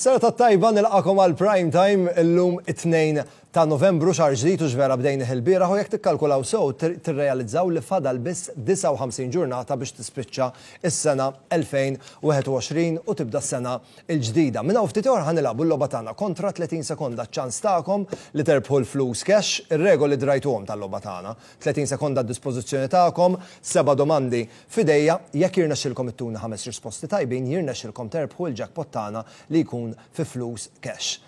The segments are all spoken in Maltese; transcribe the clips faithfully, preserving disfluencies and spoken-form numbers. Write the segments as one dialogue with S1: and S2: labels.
S1: Is-serata t-tajba, nilqagħkom għal Prime Time illum it-tnejn ta' Novembru, xahar ġdid u ġvera bdejna il-bieraħ u jekk tikkalkulaw sew tirrealizzaw li fadal biss disgħa u ħamsin ġurnata biex tispiċċa is-sena elfejn u wieħed u għoxrin u tibda s-sena l-ġdida. Minn hawn ftit ieħor ħa nilagħbu l-logħba tagħna Kontra tletin sekonda, ċans tagħkom li terbħu l-flus cash, ir-regoli drajtuhom tal-logħba tagħna. tletin sekonda d-dispożizzjoni tagħkom, seba' domandi f'idejja, jekk jirnexxilkom ittuna ħames risposti tajbin, jirnexxilkom terbħu l-jackpot tagħna li jkun fi flus cash.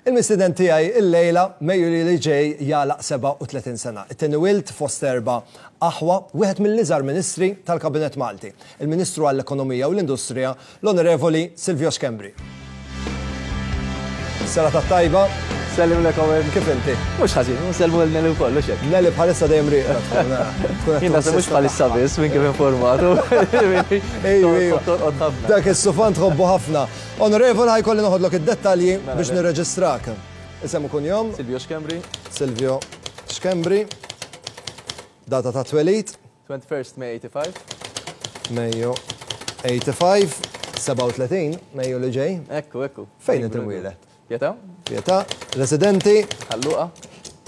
S1: Il-mistieden tiegħi illejla, Mejju li ġej jagħlaq sebgħa u tletin sena. It-tieni wild fost erba' aħwa, wieħed mill-iżgħar ministri tal-Kabinet Malti. Il-Ministru għall-Ekonomija u l-Industrija, l-Onorevoli Silvio Schembri. Serata tajba.
S2: Sellim l Owen.
S1: Kif inti?
S2: Mhux ħażin, sellmu lil Nelly wkoll, hux hekk?
S1: Nelly bħalissa dejjem rieqda tkun, tkun qed
S2: Jien naħseb mhux bħalissa biss minn kif informatu.
S1: Ejju, ejju.
S2: Torqod ħafna.
S1: Dak is-sufan tħobbu ħafna. Onorevoli, ħa jkolli noħodlok id-dettalji
S2: Mela,
S1: biex
S2: le.
S1: nirreġistrak. Isem u kunjom?
S2: Silvio Schembri.
S1: Silvio Schembri. Data ta' twelid?
S2: twenty-first May eighty-five.
S1: Mejju ħamsa u sebgħin, sebgħa u tletin, Mejju li ġej.
S2: Ekku, ekku.
S1: Fejn inti mwieled?
S2: Pietà.
S1: Pietà, residenti?
S2: Ħal Luqa.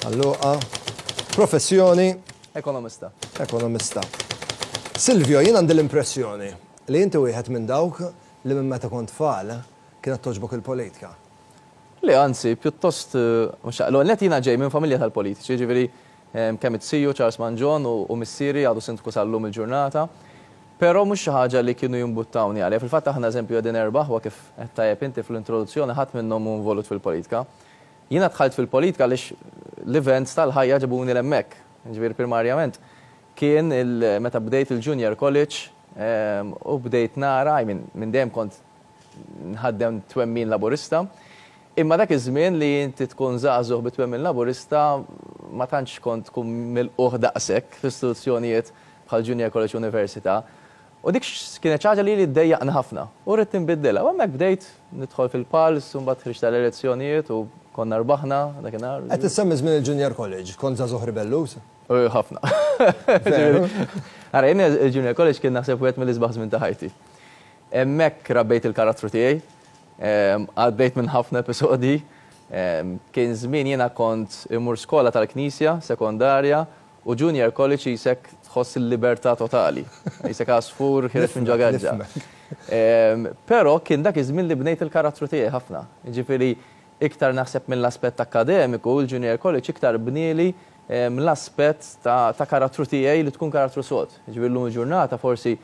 S1: Ħal Luqa, professjoni?
S2: Ekonomista.
S1: Ekonomista. Silvio, jien għandi l-impressjoni li inti wieħed minn dawk li minn meta kont tfal kienet togħġbok il-politika.
S2: Le, anzi, pjuttost, eh, mhux l-għonet jiena ġej minn familja tal-politiċi, ġifieri eh, kemm iz-ziju Charles Mangion u u missieri għadu sindku sal-lum il-ġurnata. Però mhux xi ħaġa li kienu jimbuttawni għalija. Fil-fatt aħna, eżempju, qegħdin erba' u kif qed tajjeb inti fl-introduzzjoni, ħadd minnhom hu involut fil-politika. Jiena dħalt fil-politika għaliex l-events tal-ħajja ġabuni 'l hemmhekk. Ġifieri primarjament kien il- meta bdejt il-Junior College em, u bdejt nara, I mean, minn dejjem kont nħaddem twemmin Laburista. Imma dak iż-żmien li inti tkun żagħżugħ bi twemmin Laburista ma tantx kont tkun milqugħ daqshekk f'istituzzjonijiet bħal Junior College, Università. U dik x- kienet ħaġa li li ddejjaqni ħafna. U rrid tinbiddilha. U hemmhekk bdejt nidħol fil-pals, u mbagħad ħriġt tal-elezzjonijiet u konna rbaħna dakinhar.
S1: Qed issemmi żmien il-Junior College, kont żagħżugħ ribelluż?
S2: U ħafna.
S1: Veru?
S2: Ara, jien il-Junior College kien naħseb wieħed mill-isbaħ żmien ta' ħajti. Hemmhekk rabbejt il-karattru tiegħi, em, għaddejt minn ħafna episodi, em, kien żmien jiena kont imur skola tal-Knisja, sekondarja, u Junior College qisek tħoss il-libertà totali. Qisek għasfur ħiereġ minn ġo gaġġa.
S1: Nifhmek.
S2: Em, Però kien dak iż-żmien li bnejt il-karattru tiegħi ħafna. Ġifieri iktar naħseb mill-aspett akademiku, il-Junior College iktar bnieli em, l-aspett ta', ta' karattru tiegħi li tkun karattru sod. Ġifieri llum il-ġurnata forsi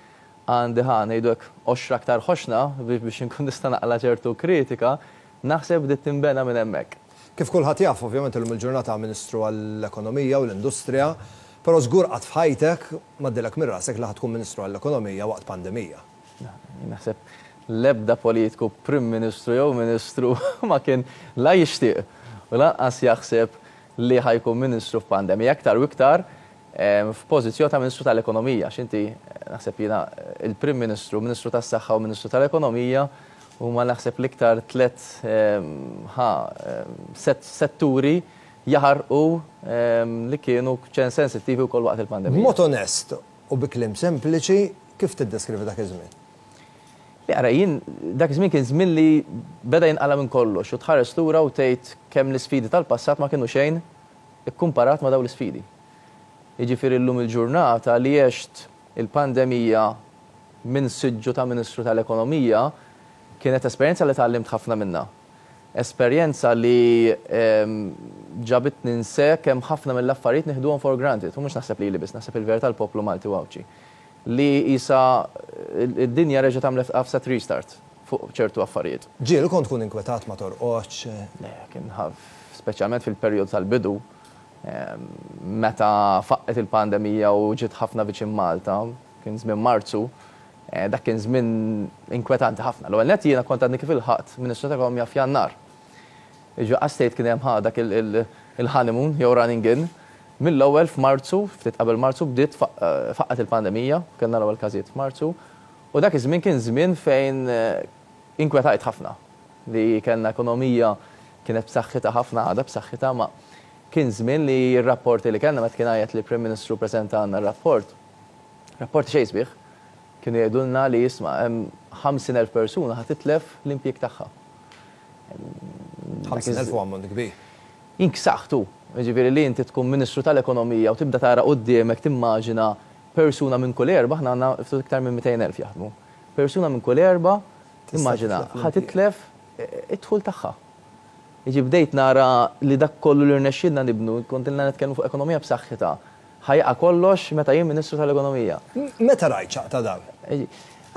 S2: għandi, ħa ngħidu hekk, qoxra aktar ħoxna biex biex inkun nista' naqla ċertu kritika, naħseb bdiet tinbena minn hemmhekk.
S1: Kif kulħadd jaf, ovvjament illum il-ġurnata Ministru għall-Ekonomija u l-Industrija, però żgur qatt f'ħajtek m'għaddielek minn rasek li ħa tkun Ministru għall-Ekonomija waqt pandemija.
S2: Naħseb l-ebda politiku, Prim Ministru jew Ministru, ma kien la jixtieq u lanqas jaħseb li ħa jkun Ministru f'pandemija, aktar u iktar em, f'pożizzjoni ta' Ministru tal-Ekonomija. X'inti naħseb jiena il-Prim Ministru, Ministru tas-Saħħa u Ministru tal-Ekonomija huma naħseb l-iktar tlet em, ħa em, set- setturi jaħarqu em, li kienu ċen sensittivi wkoll waqt il-pandemija.
S1: B'mod onest u bi kliem sempliċi, kif tiddeskrivi dak iż-żmien?
S2: Li ara, jien dak iż-żmien kien żmien li beda jinqala minn kollox u tħares lura u tgħid kemm l-isfidi tal-passat ma kienu xejn ikkumparat ma' dawn l-isfidi. Jiġifieri llum il-ġurnata li għext il-pandemija minn siġġu ta' Ministru tal-Ekonomija kienet esperjenza li tgħallimt ħafna minna. Esperjenza li em, ġabit ninse kemm ħafna mill-affarijiet nieħduhom for granted. U mhux naħseb li li biss, naħseb il-verità l-poplu Malti u Għawdxi. Li issa id-dinja reġgħet għamlet għafsat restart fuq ċertu affarijiet.
S1: Ġieli kont tkun inkwetat, ma torqodx?
S2: Le, kien ħaf, speċjalment fil-perjodu tal-bidu, em, meta faqqet il-pandemija u ġiet ħafna viċin Malta, kien żmien Marzu, eh, dak kien żmien inkwetanti ħafna. L-ewwel nett jiena kont għadni kif ilħaqt Ministru ta' Ekonomija f'Jannar. Iġu għastejt kien hemm dak il-honeymoon jew running in. Mill-ewwel f'Marzu, ftit qabel Marzu bdiet eh, faqqet il-pandemija, kellna l-ewwel każijiet f'Marzu, u dak iż-żmien kien żmien fejn eh, inkwetajt ħafna li kellna ekonomija kienet b'saħħitha ħafna, għadha b'saħħitha, ma kien żmien li r-rapporti li kellna, meta kien għajet li Prim Ministru preżenta għandna r-rapport, rapporti xejn sbieħ, kienu jgħidulna li jisma' hemm ħamsin elf persuna ħa titlef l-impjieg tagħha.
S1: ħamsin elf huwa ammont kbir.
S2: Inksaħtu, jiġifieri li inti tkun Ministru tal-Ekonomija u tibda tara quddiemek timmaġina persuna minn kull erba', aħna għandna ftit iktar minn mitejn elf jaħdmu. Persuna minn kull erba', immaġina, ħa titlef id-dħul tagħha. Jiġi bdejt nara li dak kollu li rnexxielna nibnu, kont ilna nitkellmu fuq ekonomija b'saħħitha, ħajqa kollox meta jien Ministru tal-Ekonomija.
S1: Meta rajt xaqta dawn?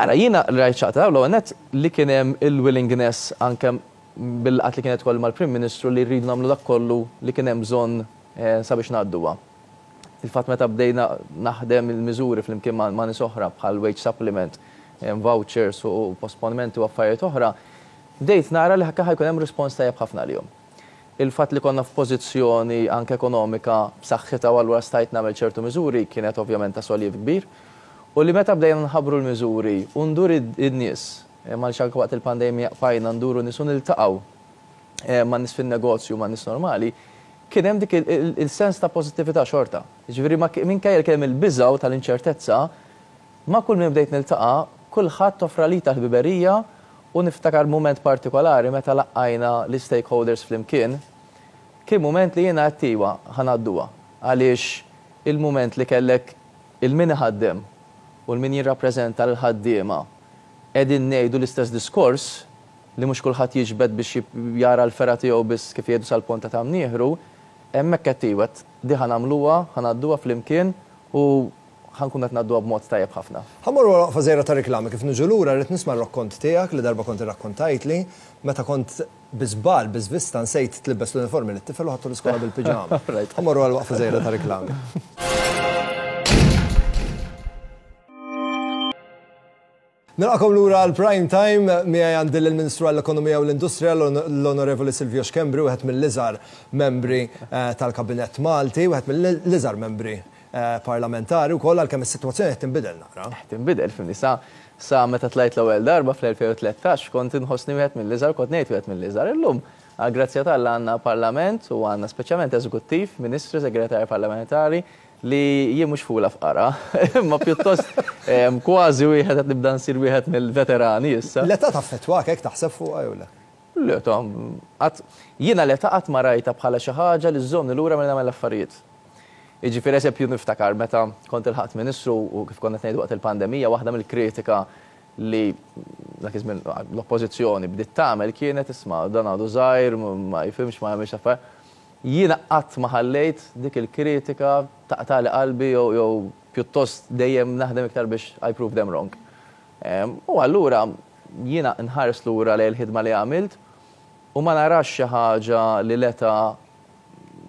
S2: Ara, jiena rajt xaqta dawn l-ewwel nett li kien hemm il-willingness anke bil-qatt li kienet koll mal-Prim Ministru li rridu nagħmlu dak kollu li kien hemm bżonn, eh, sabiex ngħadduha. Il-fatt meta bdejna naħdem il-miżuri flimkien ma', ma' nies oħra bħal wage supplement, eh, vouchers u posponimenti u affarijiet oħra, bdejt nara li ħakka ħajkun hemm rispons tajjeb ħafna għalihom. Il-fatt li konna f'pożizzjoni anke ekonomika b'saħħitha u allura stajt nagħmel ċertu miżuri kienet ovvjament ta' soliev kbir. U li meta bdejna nħabbru l-miżuri u ndur id-nies, eh, ma anke waqt il-pandemija qfajna nduru nies u niltaqgħu, eh, ma' nies fin-negozju, ma' nies normali, kien hemm dik il-, il-, il-sens ta' pożittività xorta. Jiġifieri ma ki-, minkejja li kien hemm il-biża' tal-inċertezza, ma' kull min bdejt niltaqa', kulħadd offra li ta' ħbiberija u niftakar mument partikolari meta laqqajna l-stakeholders flimkien, kien mument li jiena għedt iwa ħa ngħadduha. Għaliex il-mument li kellek il-min iħaddem u l-min jirrappreżenta l-ħaddiema qegħdin ngħidu l-istess diskors li mhux kulħadd jiġbed biex jib-, jara l-fergħa tiegħu biss kif jgħidu sal-ponta ta' mnieħru, hemmhekk qed iwa di ħa nagħmluha, ħa ngħadduha flimkien u ħa nkun qed ngħadduha b'mod tajjeb ħafna.
S1: Ħa mmorru waqfa żgħira ta' reklami kif niġu lura rrid nisma' r-rakkont tiegħek li darba kont irrakkontajtli meta kont bi żball, bi żvista nsejt tlibbes l-uniformi lit-tifel u ħadtu l-iskola bil-piġama.
S2: Right.
S1: Ħa mmorru għal waqfa żgħira ta' reklami. Nilqakom lura għal Prime Time, miegħi għandi lill-Ministru għall-Ekonomija u l-Industrija l-Onorevoli Silvio Schembri, wieħed mill-iżgħar membri, eh, tal-Kabinett Malti, wieħed mill-iżgħar membri, eh, parlamentari wkoll għalkemm is-sitwazzjoni qed tinbidel naqra.
S2: Qed tinbidel, fimni, sa, sa meta tlajt l-ewwel darba fl-elfejn u tlettax kont inħossni wieħed mill-iżgħar, kont ngħid wieħed mill-iżgħar. Illum, għal grazzja t'Alla għandna parlament u għandna speċjalment eżekuttiv, ministri, segretarji parlamentari li jien mhux fula fqara, imma pjuttost, em, kważi wieħed qed nibda nsir wieħed mill-veterani issa.
S1: L-età taffettwak hekk taħseb fuqha jew le?
S2: L-età, qatt, jiena l-età qatt ma rajtha bħala xi ħaġa li żżommni lura milli nagħmel affarijiet. Jiġifieri eżempju niftakar meta kont ilħaqt ministru u kif konna qed ngħidu waqt il-pandemija, waħda mill-kritika li dak iż-żmien l-oppożizzjoni bdiet tagħmel kienet isma' dan għadu żgħir, ma jifhimx, ma jagħmilx affarijiet. Jiena qatt ma ħallejt dik il-kritika taqtali qalbi jew, jew pjuttost dejjem naħdem iktar biex I prove them wrong. Em, u allura jiena nħares lura lejn il-ħidma li għamilt u ma narax xi ħaġa li l-età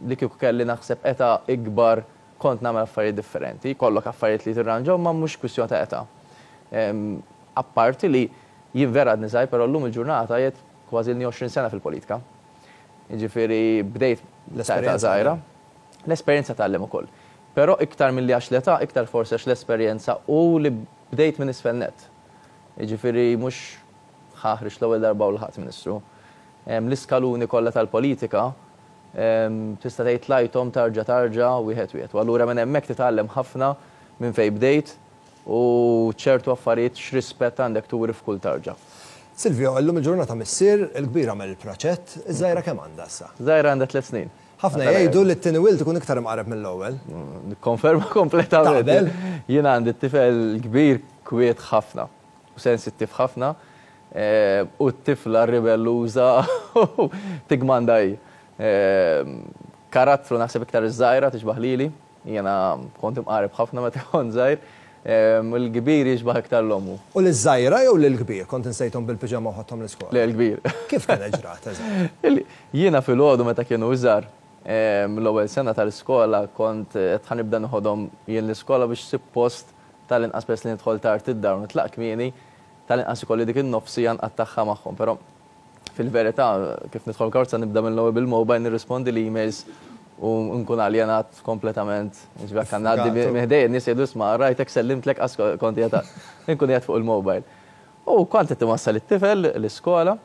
S2: li kieku kelli naħseb età ikbar kont nagħmel affarijiet differenti, kollok affarijiet li tirranġaw ma mhux kwistjoni ta' età. Em, apparti li jien vera għadni żgħir, però llum il-ġurnata jgħid kważi ilni għoxrin sena fil-politika. Jiġifieri bdejt
S1: L-esperjenza
S2: żgħira. L-esperjenza tgħallem ukoll. Però iktar milli għax l-età, iktar forsi għax l-esperjenza u li bdejt minn isfel net. Jiġifieri mhux ħaħrix l-ewwel darba u l-ħadd ministru. Em, l-iskaluni kollha tal-politika, em, tista' tgħid tlajthom tarġa' tarġa' wieħed wieħed. U allura minn hemmhekk titgħallem ħafna minn fejn bdejt u ċertu affarijiet x'rispett għandek turi f'kull tarġa.
S1: Silvio, illum il-ġurnata missier, il-kbir għamel il-praċett, iż-żgħira kemm għandha issa?
S2: Żgħira għandha tliet snin.
S1: Ħafna jgħidu li t-tieni wild ikun iktar imqareb mill-ewwel.
S2: Nikkonferma kompletament.
S1: Taqbel?
S2: Jiena għandi t-tifel kbir kwiet ħafna u sensittiv ħafna, eh, u t-tifla ribelluża tigmanda hi. Eh, karattru naħseb iktar iż-żgħira tixbaħ lili, jiena kont imqareb ħafna meta kont żgħir. Em, il-kbir jixbaħ iktar l-ommu.
S1: U l-żgħira jew l-kbir kont insejthom bil-piġama u ħadthom l-iskola?
S2: Le, l-kbir.
S1: Kif kien ġrat, eżatt?
S2: Il-, jiena filgħodu meta kienu iżgħar, em, l-ewwel sena tal-iskola kont qed ħa nibda noħodhom jien l-iskola biex suppost tal-inqas peress li nidħol tard id-dar u nitlaq kmieni, tal-inqas ikolli dik in-nofsija nqattagħha magħhom, però fil-verità kif nidħol karozza nibda mill-ewwel bil-mobile nirrispondi l-emails u nkun aljenat kompletament. Ġifieri kan ngħaddi
S1: Għatu.
S2: minn ħdejja n-nies jgħidu isma' rajtek sellimtlek qas kont qiegħed nkun qiegħed fuq il-mobile. U kont qed iwassal it-tifel l-iskola,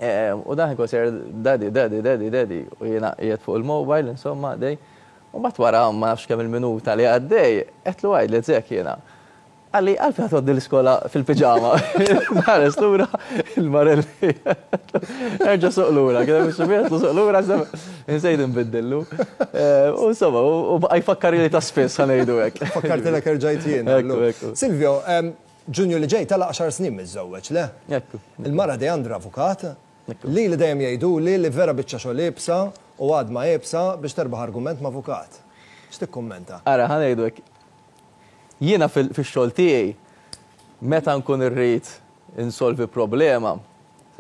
S2: em, u dan ikun sejjer daddy, daddy, daddy, daddy, u jiena qiegħed fuq il-mobile, insomma, dej. U mbagħad wara ma nafx kemm il-minuta li għaddej, qedlu għajd li zek jiena. Qalli, "Għalfejn ħa tgħaddi l-iskola fil-pijama?" Ħares lura il-Marelli. "Erġa' suq lura," kien hemm suq lura, insejt nbiddillu. U insomma, u baqa' jfakkar li ta' spiss, ħa ngħidu hekk.
S1: Fakkartilek erġajt jien. Silvio, Ġunju li ġej tagħlaq għaxar snin miżżewweġ, le?
S2: Ekku.
S1: Il-mara Deandra avukat, li li dejjem jgħidu li li vera biċċa xogħol iebsa u għadma iebsa biex terbaħ argument ma' avukat. X'tikkummenta?
S2: Ara, ħa ngħidu hekk. Jiena fix-xogħol tiegħi, meta nkun irrid insolvi problema,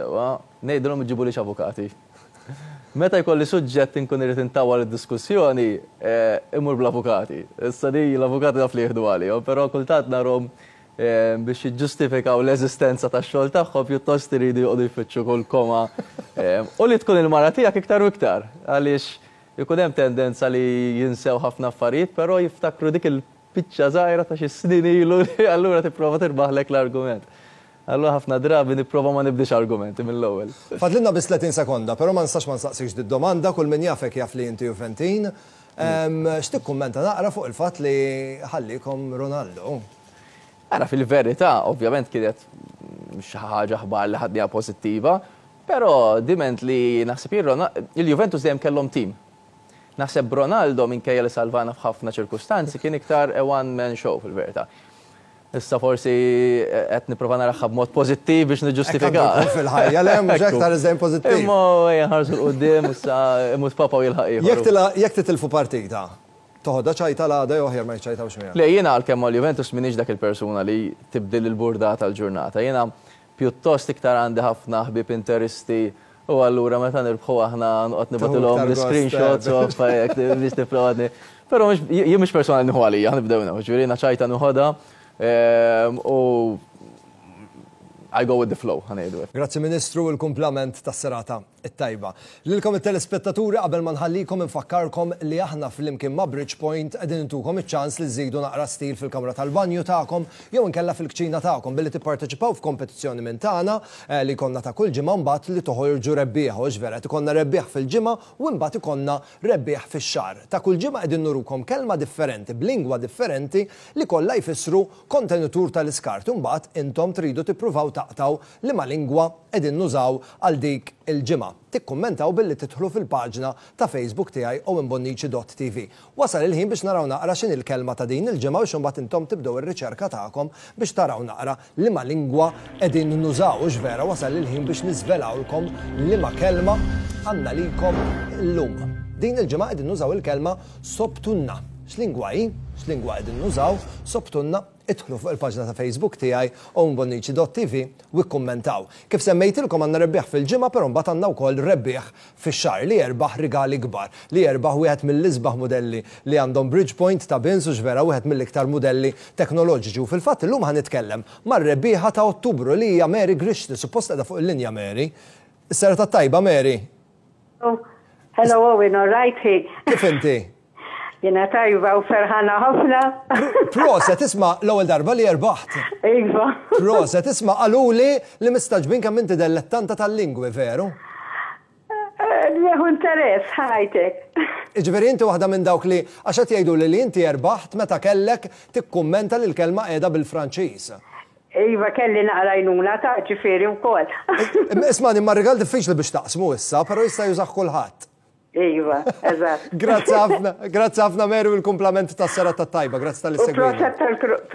S2: sewwa, ngħidilhom iġibulix avukati. Meta jkolli suġġett inkun irrid intawwal id-diskussjoni, imur bl-avukati. Issa di l-avukati naf li jieħdu għalihom, però kultant narahom biex jiġġustifikaw l-eżistenza tax-xogħol tagħhom pjuttost iridu joqogħdu jfittxu kull koma. U li tkun il-mara tiegħek iktar u iktar, għaliex ikun hemm tendenza li jinsew ħafna affarijiet, però jiftakru dik il-biċċa żgħira ta' xi snin ilu li allura tipprova tirbaħlek l-argument. Allura ħafna drabi nipprova ma nibdix argumenti mill-ewwel.
S1: Fadlilna biss tletin sekonda, però ma nistax ma nsaqsikx did-domanda, kull min jafek jaf li inti Juventin. X'tikkummenta naqra fuq il-fatt li ħallikom Ronaldo?
S2: Ara, fil-verità, ovvjament kienet xi ħaġa aħbar li ħadniha pożittiva, però diment li naħseb il-Juventus dejjem kellhom tim. Naħseb Ronaldo, minkejja li salvana f'ħafna ċirkustanzi, kien iktar a one man show fil-verità. Issa forsi qed nipprova naraha b'mod pożittiv biex niġġustifika.
S1: Fil-ħajja, le, mhux aktar iżdejn pożittiv.
S2: Imma ejja nħarsu 'l quddiem, issa imut papa u jilħaq ieħor.
S1: Jekk titilfu partita, toħodha ċajta l-għada jew aħjar ma jċajtawx miegħek?
S2: Le, jiena għalkemm mal-Juventus m'iniex dak il-persuna li tibdil il-burdata tal-ġurnata. Jiena pjuttost iktar għandi ħafna ħbieb interisti u allura meta nirbħu aħna noqgħod nibgħatilhom l-screenshots u affarijiet biex nipprova. Però jien mhux persuna li nieħu għalija, nibdew nafu, ġifieri jiena ċajta nieħodha u I go with the flow, ħa ngħidu.
S1: Grazzi Ministru, il-kumplament tas-serata it-tajba. Lilkom it-telespettaturi, qabel ma nħallikom infakkarkom li aħna flimkien ma' Bridgepoint qegħdin intukom iċ-ċans li żidu naqra stil fil-kamra tal-banju tagħkom jew inkella fil-kċina tagħkom billi tipparteċipaw f'kompetizzjoni minn tagħna li konna ta' kull ġimgħa, mbagħad li toħorġu rebbieħ, u vera ikollna rebbieħ fil-ġimgħa u mbagħad ikollna rebbieħ fix-xahar. Ta' kull ġimgħa qegħdin nurukom kelma differenti b'lingwa differenti li kollha jfissru kontenitur tal-iskart, u mbagħad intom tridu tippruvaw taqtaw liema lingwa qegħdin nużaw għal dik il-ġimgħa. Tikkummentaw billi tidħlu fil-paġna ta' Facebook tiegħi owenbonnici dot T V. Wasal il-ħin biex naraw naqra x'inhi l-kelma ta' din il-ġimgħa biex imbagħad intom tibdew ir-riċerka tagħkom biex taraw naqra liema lingwa qegħdin nużaw. U vera wasal il-ħin biex niżvelawlkom liema kelma għandna lilkom illum. Din il-ġimgħa qegħdin nużaw il-kelma "sobtunna". X'lingwa hi? X'lingwa qegħdin nużaw? "Sobtunna". Idħlu fuq il-paġna ta' Facebook tiegħi owenbonnici dot T V u kkummentaw. Kif semmejtilkom, għandna rebbieħ fil-ġimgħa, però mbagħad għandna wkoll rebbieħ fix-xahar li jerbaħ rigali kbar, li jerbaħ wieħed mill-isbaħ modelli li għandhom Bridgepoint ta' bins, u vera wieħed mill-iktar modelli teknoloġiċi. U fil-fatt illum ħa nitkellem mar-rebbieħa ta' Ottubru li hija Mary Grixti, suppost qiegħda fuq il-linja Mary. Is-serata tajba, Mary.
S3: Hello Owen, all right?
S1: Kif inti?
S3: Jiena tajba u ferħana ħafna.
S1: Proset, isma', l-ewwel darba li erbaħt.
S3: Iva.
S1: Proset, isma', qaluli li mistagħġbin kemm inti dellettanta tal-lingwi, veru?
S3: Nieħu interess, ħajtek.
S1: Iġifieri inti waħda minn dawk li, għax qed jgħidu li li inti erbaħt meta kellek tikkummenta li l-kelma qiegħda bil-Franċiż.
S3: Iva, kelli naqra għajnuna ta' ġifieri wkoll.
S1: Isma', imma rigal diffiċli biex taqsmu issa, però jista' jużah kulħadd.
S3: Iva, eżatt.
S1: Grazzi ħafna, grazzi ħafna Mary u l-kumplament tas-serata tajba, grazzi talli
S3: U proset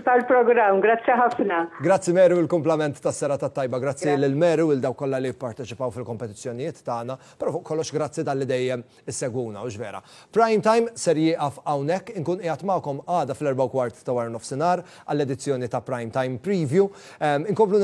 S3: tal-programm, grazzi ħafna.
S1: Grazzi Mary u l-kumplament tas-serata tajba, grazzi lil Mary u l-dawk kollha li pparteċipaw fil-kompetizzjonijiet tagħna, però fuq kollox grazzi talli dejjem issegwuna, u vera. Prime Time ser jieqaf hawnhekk, inkun qiegħed magħkom għada fl-erbgħa u kwart ta' wara nofsinhar għall-edizzjoni ta' Prime Time Preview. Inkomplu.